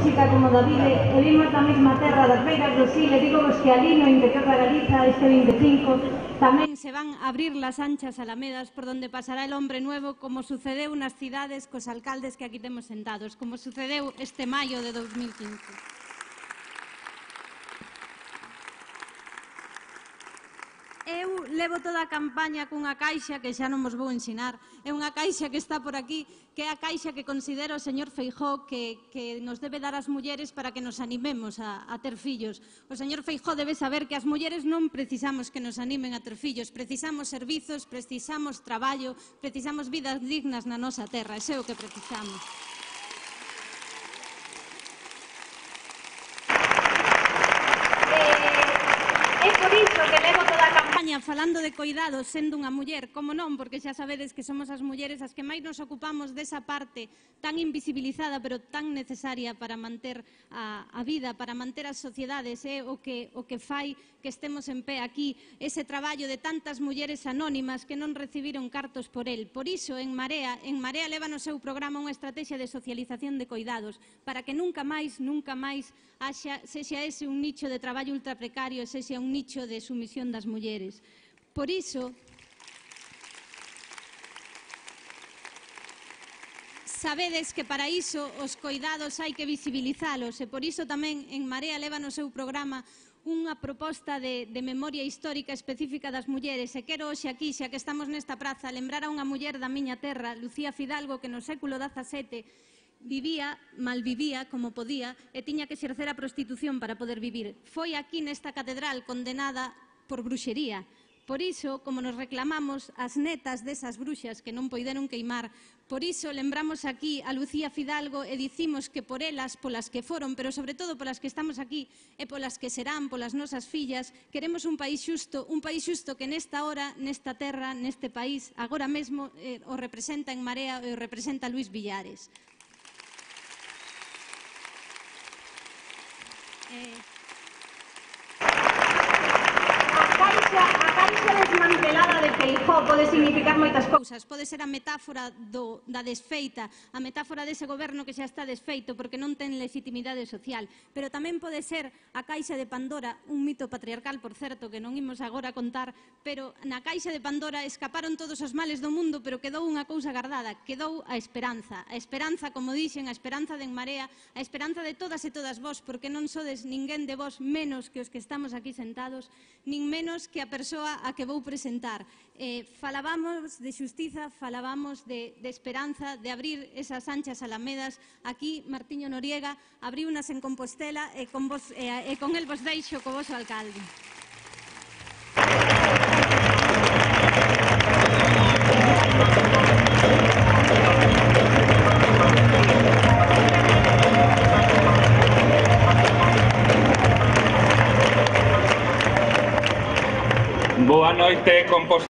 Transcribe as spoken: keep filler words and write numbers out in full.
música como Davide, e vimos na mesma terra das beiras do Sil, e digo vos que ali no interior da Galiza este vinte e cinco tamén se van a abrir las anchas alamedas por donde pasará el hombre nuevo, como sucedeu nas cidades cos alcaldes que aquí temos sentados, como sucedeu este maio de dos mil quince. Eu levo toda a campaña cunha caixa que xa non vos vou ensinar. É unha caixa que está por aquí, que é a caixa que considera o señor Feijóo que, que nos debe dar as mulleres para que nos animemos a, a ter fillos. O señor Feijóo debe saber que as mulleres non precisamos que nos animen a ter fillos, precisamos servizos, precisamos traballo, precisamos vidas dignas na nosa terra, ese é o que precisamos. É por iso que levo toda a campaña falando de coidados sendo unha muller, como non, porque xa sabedes que somos as mulleres as que máis nos ocupamos desa parte tan invisibilizada pero tan necesaria para manter a, a vida, para manter as sociedades, é o que, o que fai que estemos en pé aquí, ese traballo de tantas mulleres anónimas que non recibiron cartos por el. Por iso, en Marea, en Marea leva no seu programa unha estrategia de socialización de coidados, para que nunca máis, nunca máis haxa, sexa ese un nicho de traballo ultra precario, sexa un nicho de sumisión das mulleres. Por iso, sabedes que para iso os coidados hai que visibilizalos e por iso tamén en Marea leva no seu programa unha proposta de, de memoria histórica específica das mulleres e quero hoxe aquí, xa que estamos nesta praza, lembrar a unha muller da miña terra, Lucía Fidalgo, que no século dezasete vivía, malvivía como podía e tiña que exercer a prostitución para poder vivir. Foi aquí nesta catedral condenada por bruxería. Por iso, como nos reclamamos as netas desas bruxas que non poideron queimar, por iso lembramos aquí a Lucía Fidalgo e dicimos que por elas, polas que foron, pero sobre todo polas que estamos aquí e polas que serán, polas nosas fillas, queremos un país xusto, un país xusto que nesta hora, nesta terra, neste país, agora mesmo eh, o representa en Marea e o representa Luís Villares. Eh... A caixa desmantelada de Feijóo pode significar moitas cousas. Pode ser a metáfora do, da desfeita, a metáfora dese goberno que xa está desfeito porque non ten legitimidade social, pero tamén pode ser a caixa de Pandora, un mito patriarcal, por certo, que non imos agora contar, pero na caixa de Pandora escaparon todos os males do mundo, pero quedou unha cousa guardada, quedou a esperanza. A esperanza, como dixen, a esperanza de En Marea, a esperanza de todas e todas vós, porque non sodes ninguén de vós menos que os que estamos aquí sentados, nin menos que a persoa a que vou presentar. Eh, falábamos de xustiza, falábamos de, de esperanza, de abrir esas anchas alamedas. Aquí, Martiño Noriega abriu unas en Compostela e con, vos, e, e con el vos deixo co voso alcalde. Boa noite, Compostela.